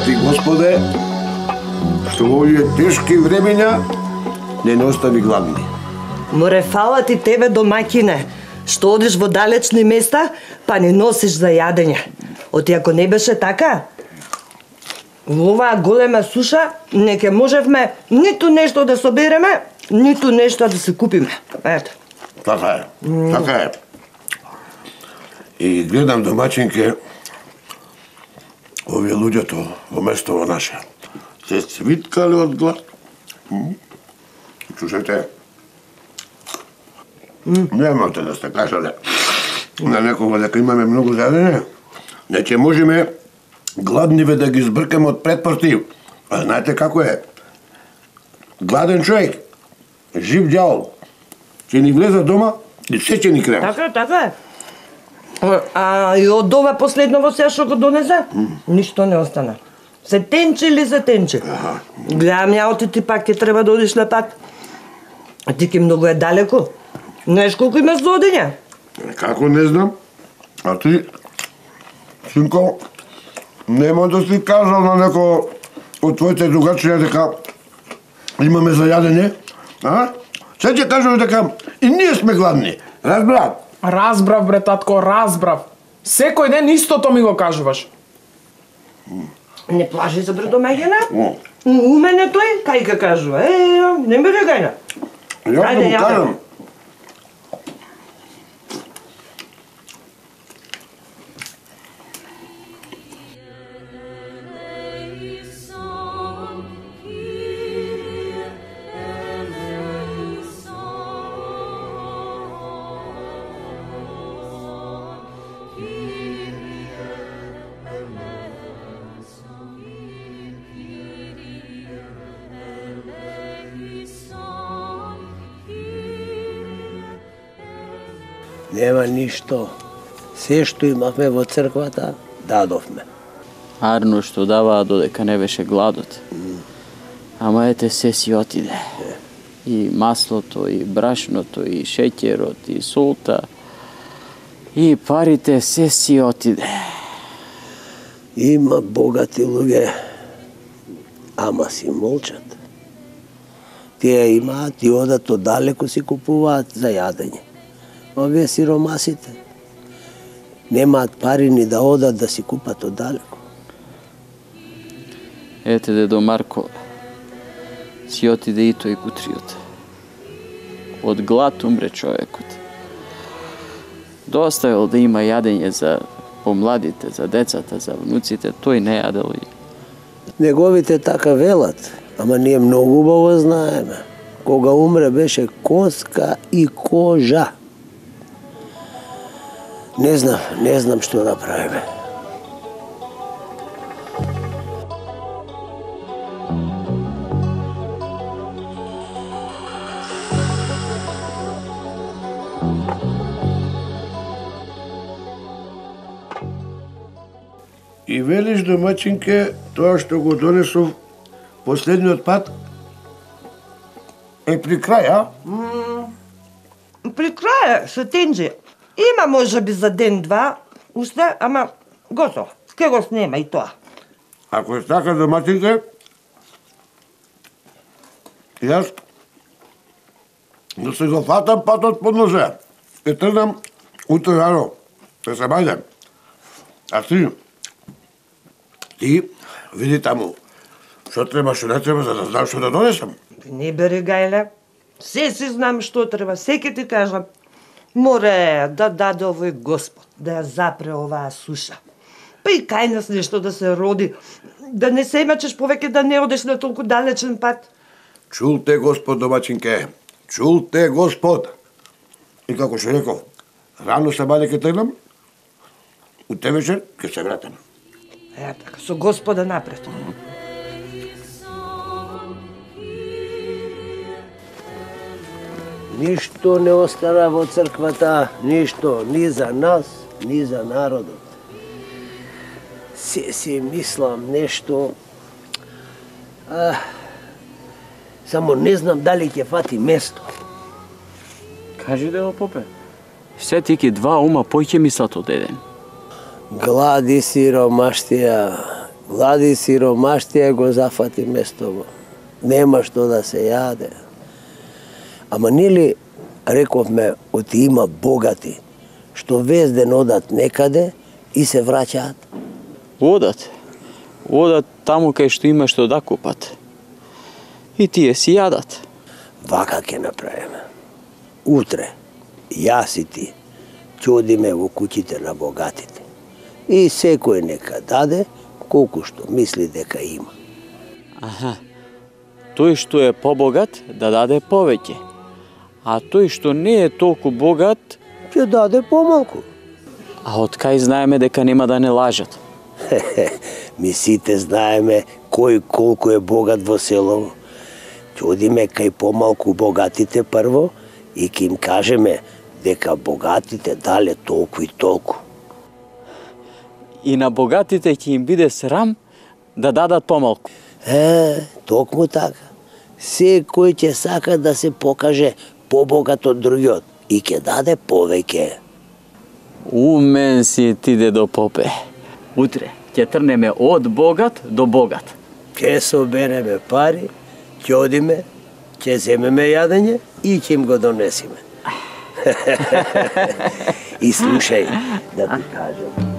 Ти, Господе, што во овие тешки времења не остави гладни. Море, фала ти тебе, домаќине, што одиш во далечни места, па не носиш за јадење. Оти ако не беше така, во оваа голема суша не ќе можевме ниту нешто да собереме, ниту нешто да се купиме. Ето. Така е, така е. И гледам, домаќинке, овие луѓето во местово наше се цвиткале од глад. Чушете, немате да сте кажале на некого дека имаме многу јадење, не ќе можеме гладниве да ги збркаме од предпорти. А знаете како е? Гладен човек, жив ѓавол, ќе ни влезе дома и се ќе ни крема. Така е. А и од ова последново сега што го донесе, ништо не остана. Се тенчи или се тенчи. Гледам ја, оти ти пак ќе треба да одиш на пат. А ти ке многу е далеко. Знаеш колку имаш за одење? Како не знам? А ти, синко, нема да си кажал на неко од твоите другачија дека имаме за јадење, а? Се ќе кажам дека и ние сме гладни, разбрав? Разбрав, бре, татко, разбрав. Секој ден истото ми го кажуваш. Не плаши се, бре, домаќина. У мене тој, кај ка кажува. Не ме регајна. Ја да му кажам. Нема ништо. Се што имавме во црквата, дадовме. Арно што даваа додека не беше гладот. Ама ете се си отиде. И маслото, и брашното, и шеќерот, и солта, и парите се си отиде. Има богати луѓе, ама си молчат. Тие имаат и одат оддалеку си купуваат за јадење. Овие сиромасите немаат пари ни да одат да си купат оддалеку. Ете, дедо Марко, си отиде и тој кутриот. Од глад умре човекот. Доставил да има јадење за помладите, за децата, за внуците, тој не јадел и... Неговите така велат, ама ние многу убаво знаеме. Кога умре беше коска и кожа. Не знам што да правиме. И велиш, домаќинке, тоа што го донесов последниот пат е при крај, а? При крај се тенџи. Има може би за ден-два, уште, ама готово. Ке го снема и тоа. Ако е така, домаќинке, јас да се го фатам патот под нозе. Е тргнам утре рано, да се бајдем. А ти види таму, што треба, што не треба, за да знам што да донесам. Не бери, Гајле. Се си знам што треба, се ќе ти кажам. Море да даде овој Господ, да ја запре оваа суша. Па и кај нас нешто да се роди, да не се имачеш повеќе да не одеш на толку далечен пат. Чул те Господ, домачинке, чул те Господ. И како што реков, рано се баде ке тргнам, утре вечер ке се вратам. Така, со Господа напред. Ништо не остана во црквата, ништо, ни за нас, ни за народот. Се си мислам нешто, само не знам дали ќе фати место. Кажи да попе. Се тики два ума поќе мислат од еден. Глади сиромаштија го зафати местово. Нема што да се јаде. Ама нели рековме оти има богати, што вез ден одат некаде и се враќаат? Одат таму кај што има што да купат. И тие си јадат. Вака ќе направиме. Утре, јас и ти, ќе одиме во куќите на богатите. И секој нека даде колку што мисли дека има. Тој што е побогат да даде повеќе. А тој што не е толку богат, Ќе даде помалку. а од кај знаеме дека нема да не лажат? Ми сите знаеме кој колку е богат во село. Ќе одиме кај помалку богатите прво и ќе им кажеме дека богатите дале толку и толку. И на богатите ќе им биде срам да дадат помалку. Токму така. Секој ќе сака да се покаже побогат од другиот и ќе даде повеќе. Умен си ти, дедо Попе. Утре ќе трнеме од богат до богат. Ќе собереме пари, ќе одиме, ќе земеме јадење и ќе им го донесиме. И слушај, да ти кажам.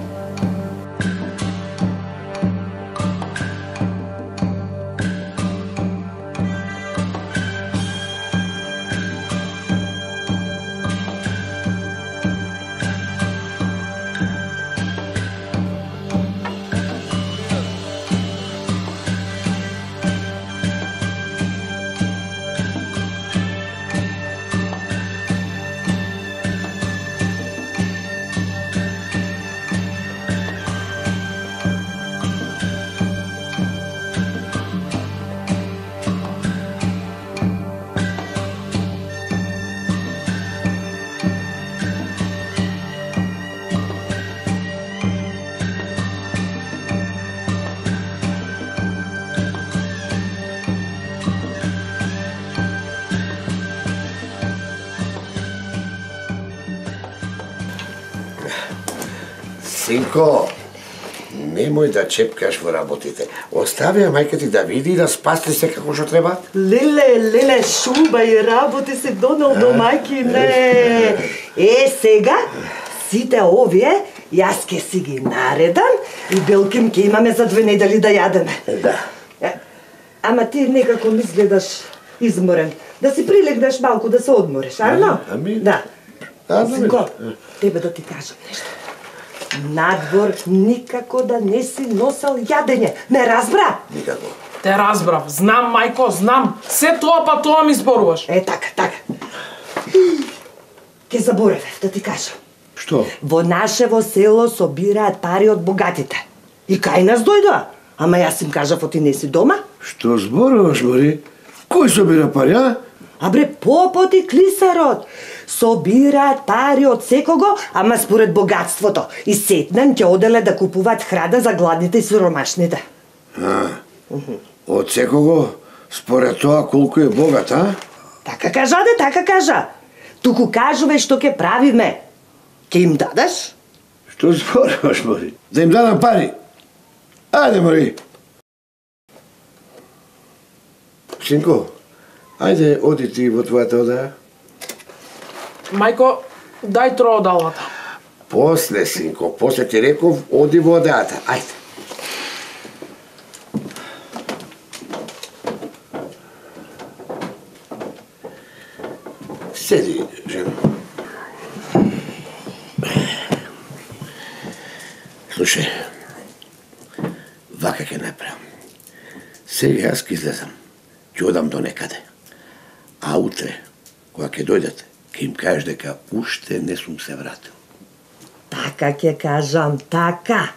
Синко, немој да чепкаш во работите. Остави ја мајка ти да види и да спасти се како што треба. Леле, шуба и работи се донел до мајкине. Сега, сите овие, јас ке си ги наредам и белким ке имаме за 2 недели да јадеме. Да. Ама ти некако ми изгледаш изморен. Да си прилегнеш малку да се одмориш, арно? Да. Синко, тебе да ти кажам нешто. Надвор никако да не си носел јадење. Ме разбра? Никако. Те разбрав. Знам, мајко, знам. Се тоа па тоа ми зборуваш. Така. Ке заборавев да ти кажам. Што? Во нашево село собираат пари од богатите. И кај нас дојдоа. Ама јас им кажав, оти не си дома. Што зборуваш, Мори? Кој собира пари, а? Абре, попот и клисарот собираат пари од секого, ама според богатството. И сетнен ќе оделе да купуваат храна за гладните и сиромашните. Од секого според тоа колку е богат, а? Така кажа. Туку кажуве што ќе правиме. Ќе им дадеш? Што зборуваш, Мори? Да им дадам пари? Ајде, Мори. Синко, ајде, оди ти во твојата одеја. Мајко, дај троодалата. После, синко, после ти реков, оди во одејата. Ајде. Седи, жена. Слушај, вака ќе направам. Сега јас ќе излезам, ќе одам до некаде. А утре, кога ќе дојдат, ќе им кажеш дека уште не сум се вратил. Така ќе кажам, така.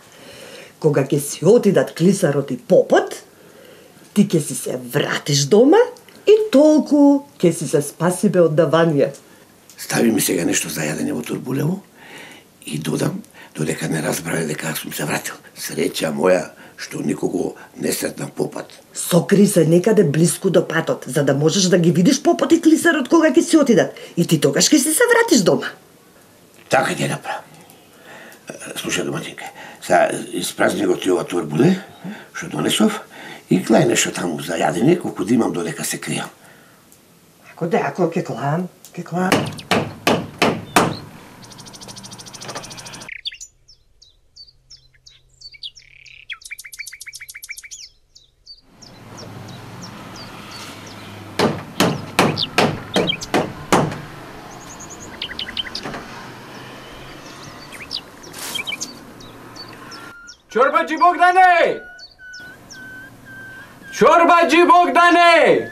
Кога ќе си отидат клисарот и попот, ти ќе си се вратиш дома и толку ќе си се спасибе од давање. Стави ми сега нешто за јадење во турбулево и додам додека не разбрале дека сум се вратил. Среќа моја што никого не сретнав попат. Сокри се некаде блиску до патот, за да можеш да ги видиш попот и клисарот кога ќе си отидат. И ти тогаш ќе си се вратиш дома. Така ќе направам. Слушај, доматинка, сега испразни го ти ова турбуле, што донесов, и гледај нешто таму за јадење, колку да имам додека се кријам. Ако ќе клам, ќе клам. Чорбаджи Богдане! Чорбаджи Богдане!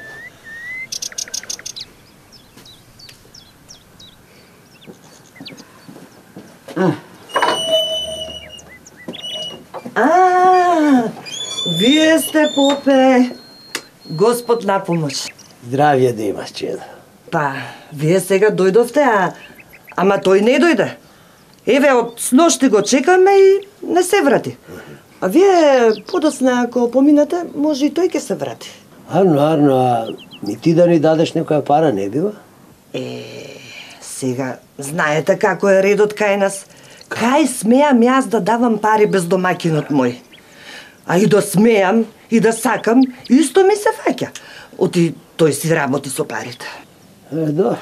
Вие сте, попе. Господ на помош. Здравје да имаш, чеда. Па, вие сега дојдовте, ама тој не дојде. Еве, од сношти го чекаме и не се врати. А вие подосна, ако поминате, може и тој ќе се врати. Арно, а ни ти да ни дадеш некоја пара не бива? Сега, знаете како е редот кај нас. Кај смеам јас да давам пари без домакинот мој? А и да смеам, и да сакам, исто ми се фаќа. Оти тој си работи со парите. Добро.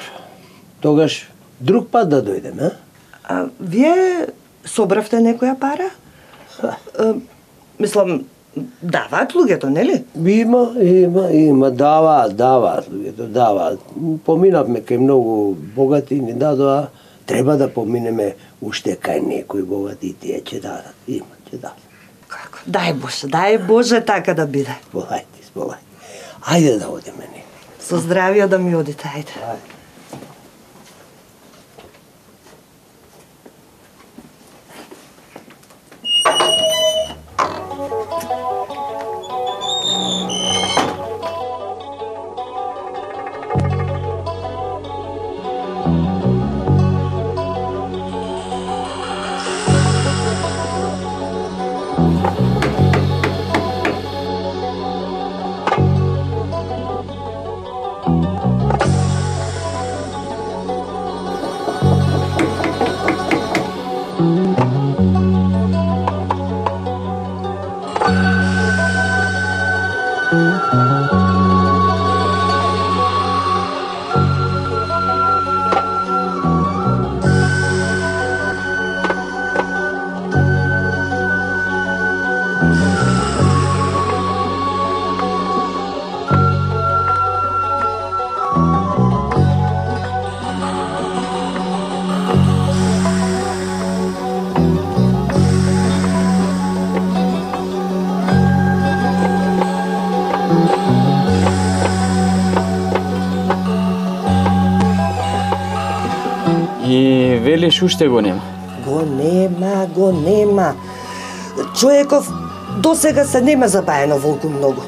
Тогаш друг пат да дојдем, А вие собравте некоја пара? Мислам, даваат луѓето, нели? Има, даваат луѓето, даваат. Поминавме кај многу богати, ни дадоа, треба да поминеме уште кај некои богати и тие ќе дадат. Ќе дадат. Како? Дај Боже така да биде. Сполајте. Ајде да одиме некај. Со здравје да ми одите, ајде. И велиш уште го нема? Го нема. Човеков досега се нема забаено волку многу.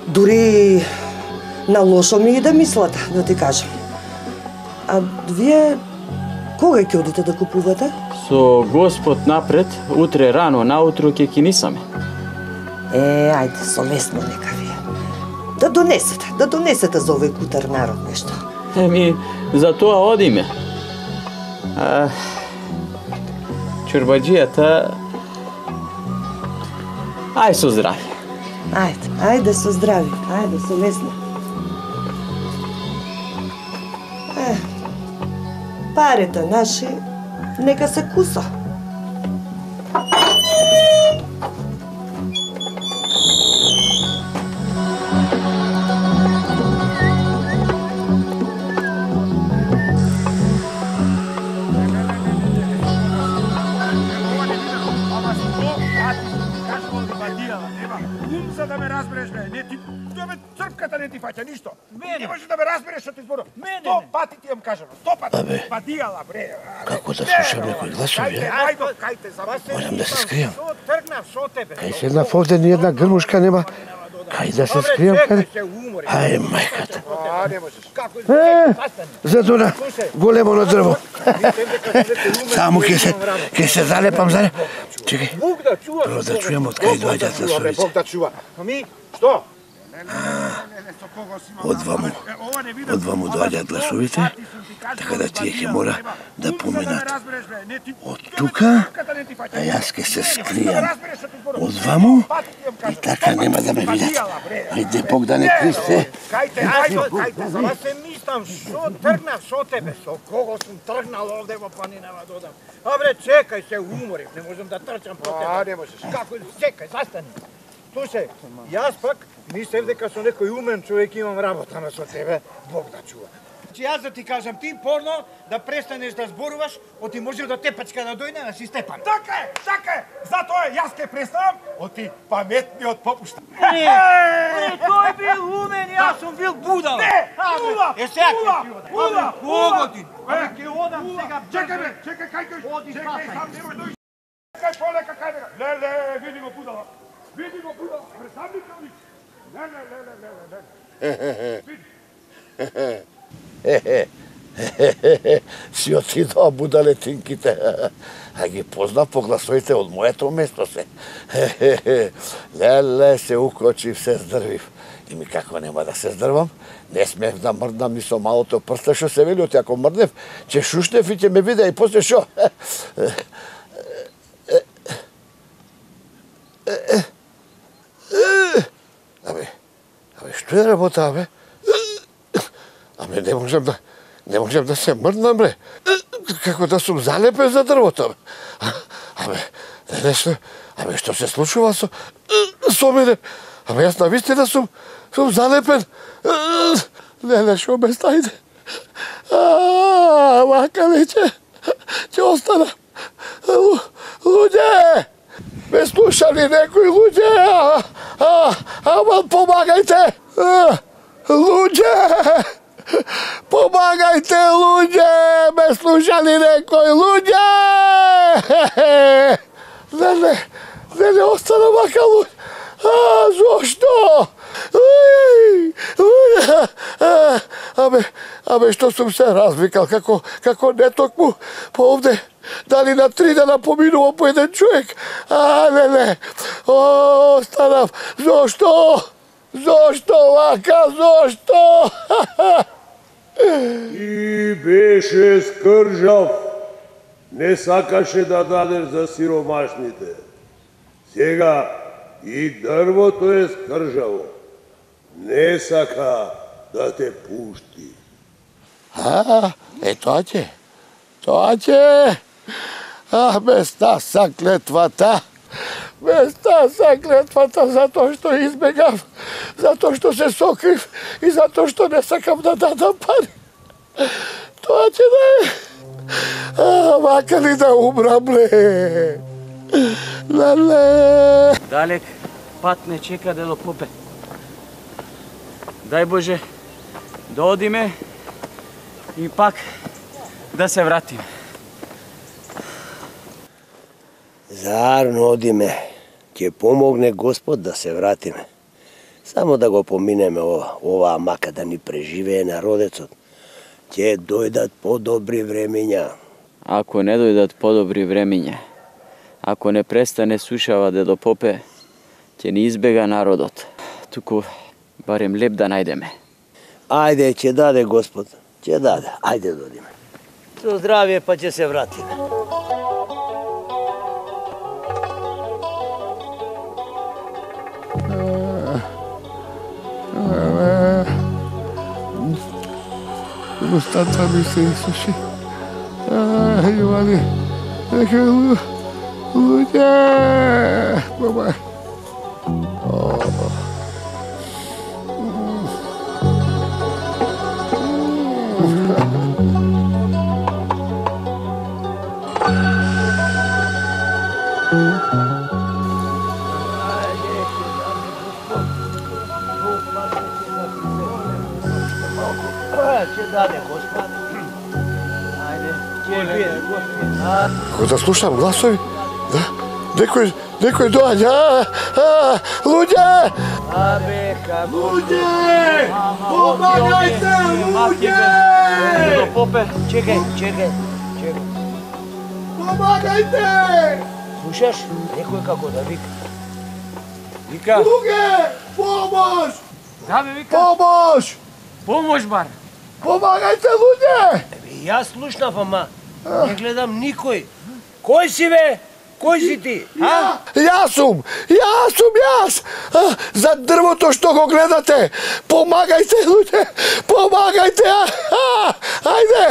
Дури на лошо ми иде мислата, да ти кажам. А вие кога ќе одите да купувате? Со Господ напред, утре рано наутро ќе кинисаме. Ајде, совесно нека вие. Да донесете за овој кутар народ нешто. За тоа одиме. Чорбаджијата... Ај со здравје. Ајде со здравје, ајде совесно. Парите наши нека се куса. не ти фаќа ништо. Не можеш да ме разбереш што ти зборувам. 100 пати ти имам кажано, 100 пати. Па дијала бре. Како да слушам некои гласови, Кајте, за вас Морам да се скријам. Што тргнав со тебе? Кај седнав овде ни една грмушка нема. Кај да се скријам каде? Ај, мајката. Не можеш. Како? Зато на големо дрво. Само ќе се залепам, залеп. Чекај. Бог да чува. Прво да чујам од кај доаѓаат гласовите. Бог да чува. Ами, што? Од ваму доаѓаат гласовите, така да тие ќе мора да поминат од тука, а јас ќе се скријам од ваму и така нема да ме видат. Ајде, Бог да не кристе. Кајте, за вас се мислам, што тргнав со тебе, со кого сум тргнал овде во планинава додам. Абре, чекај се, уморив, не можам да трчам по тебе. Не можеш. Како, чекај, застани. Слушај, јас пак мислев дека со некој умен човек имам работа, ама со тебе Бог да чува. Че јас да ти кажам, ти порно да престанеш да зборуваш, оти може да тепачка да дојде на си Степан. Така е, затоа јас ке престанам, оти паметниот попушта. Не, тој бил умен, јас сум бил будал. Не, була, Кого ти? Ке одам сега. Чекај, кај, Оди, чекај, спасај. сам немој дојди. Чекај, полека, кај бе. Леле, види го будала. Види го будала, пресам ли кај? Си отидоа будалетинките. А ги познав по гласовите од моето место се. Леле, се укочив, се здрвив. И ми како нема да се здрвам, не смеев да мрдам ни со малото прста што се вели, оти ако мрднев, ќе шушнев и ќе ме виде и после шо. Абе, што е работа, бе? Абе, не можам да се мрднам, бре. Како да сум залепен за дрвото, бе. Абе, нешто, абе, што се случува со мене? Абе, јас навистина сум залепен. Не, шо ме стајде. Вака веќе, ќе остана. Луѓе! Ме слушали некои луѓе? Ама помагајте! Луѓе! Помагајте, луѓе! Ме слушали некои луѓе! Не, остана вака луѓе. Зошто? Абе, што сум се развикал, како не токму по овде. Дали на 3 дена поминува по еден човек? Не. Останав. Зошто? Зошто вака? Зошто? И беше скржав. Не сакаше да дадеш за сиромашните. Сега и дрвото е скржаво. Не сака да те пушти. Тоа ќе. Без таа клетвата. Без таа клетвата затоа што избегав, затоа што се сокрив и затоа што не сакам да дадам пари. Тоа ќе да е. Вака ли да умрам, ле? Леле. Далек пат не чека да попе. Дај Боже, да одиме и пак да се вратиме. Заарно одиме. Ќе помогне Господ да се вратиме. Само да го поминеме оваа мака да ни преживее народецот. Ќе дојдат подобри времиња. Ако не дојдат подобри времиња, ако не престане сушава дедо попе, ќе ни избега народот. Туку барем леп да најдеме. Ајде, ќе даде Господ. Ќе даде. Ајде да одиме. Со здравје па ќе се вратиме. Устата ми се изсуши. Јовани, нека луѓе, баба. Како да слушам гласови, да, некој доаѓа, луѓе! Абе, како... Луѓе! Помагајте, луѓе! Попе, чекај. Помагајте! Слушаш? Некој како да вика. Вика, Луѓе! Помош! да бе, вика, Помош! помош бар. Помагајте, луѓе! Јас слушнав, ама не гледам никој. Кој си, бе? Кој си ти? Јас сум! За дрвото што го гледате! Помагајте, луѓе! Помагајте! Ајде!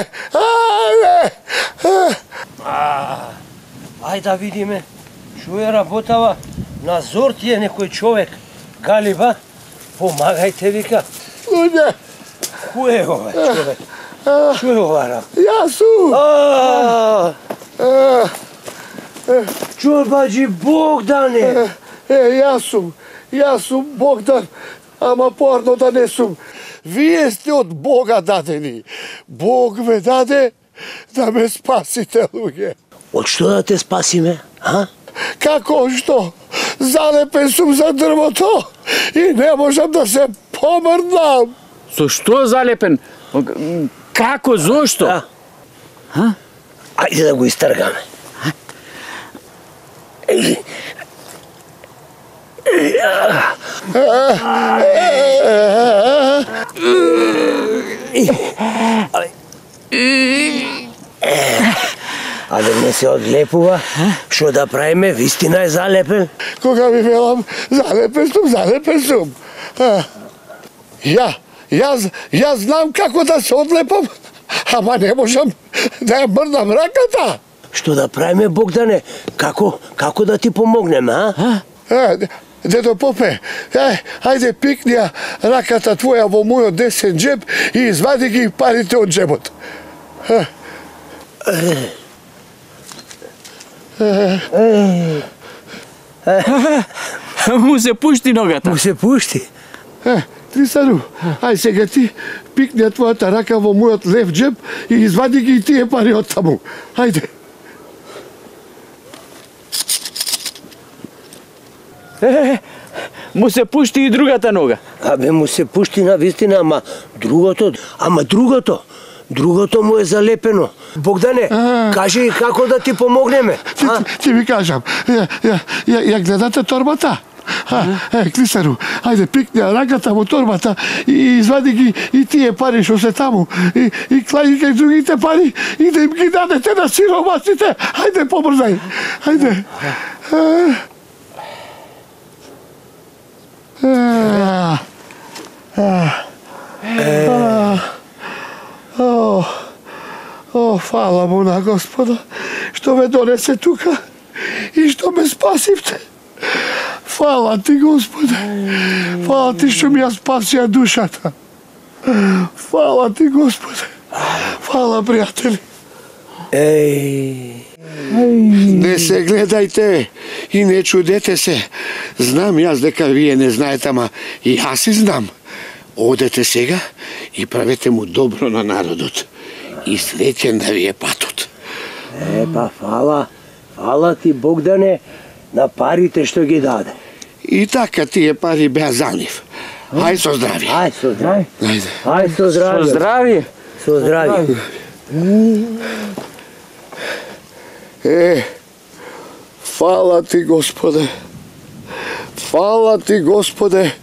Ај да видиме. Шо е работава? На зор ти е некој човек. Галиба, помагајте, вика. Луѓе! Кој е ова човек? Шо е ова работа? Јас сум! Чорбаджи Богдане! Јас сум Богдан, ама порно да не сум. Вие сте од Бога дадени. Бог ме даде да ме спасите, луѓе. Од што да те спасиме, а? Како што? Залепен сум за дрвото и не можам да се помрдам. Со што залепен? Како, зошто? Ајде да го истргаме. Аде не се одлепува. Што да правиме? Вистина е залепен. Кога ви велам, залепен сум. Јас знам како да се одлепам, ама не можам да ја мрдам раката. Што да правиме, Богдане? Како да ти помогнеме, а? Дедо Попе, ајде пикни ја раката твоја во мојот десен джеб и извади ги парите од джебот. Му се пушти ногата. Му се пушти? Трисану, ај сега ти пикни ја твојата рака во мојот лев джеб и извади ги и тие пари од таму. Ајде. Му се пушти и другата нога. Абе, му се пушти на вистина, ама другото му е залепено. Богдане, кажи како да ти помогнеме. Ти ви кажам, ја гледате торбата? Клисару, ајде пикни ја раката во торбата и извади ги и тие пари што се таму и клаји кај другите пари и да им ги дадете на сиромасите. Ајде побрзај. Ајде. Фала му на Господа што ме донесе тука и што ме спасивте. Фала ти, Господе. Фала ти што ми ја спасија душата. Фала ти, Господе. Фала, пријатели. Не се гледајте и не чудете се. Знам јас дека вие не знаете, ама и јас и знам. Одете сега и правете му добро на народот. И среќен да ви е патот. Па фала ти, Богдане, на парите што ги даде. И така тие пари беа за нив. Ај со здрави. Ај со здрави. Ај со здрави. Со здрави. Со здрави. Фала ти, Господе. Фала ти, Господе,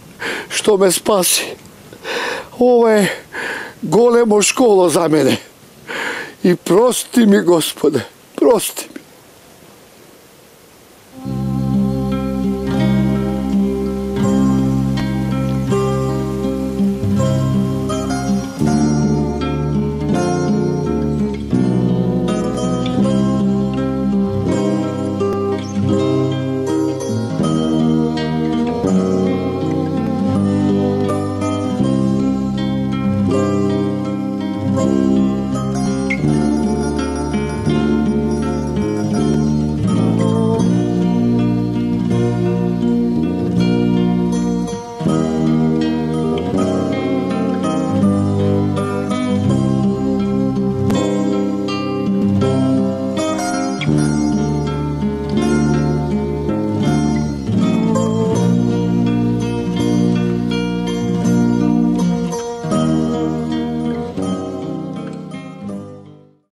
што ме спаси. Ова е големо школо за мене. И прости ми, Господе, прости ми.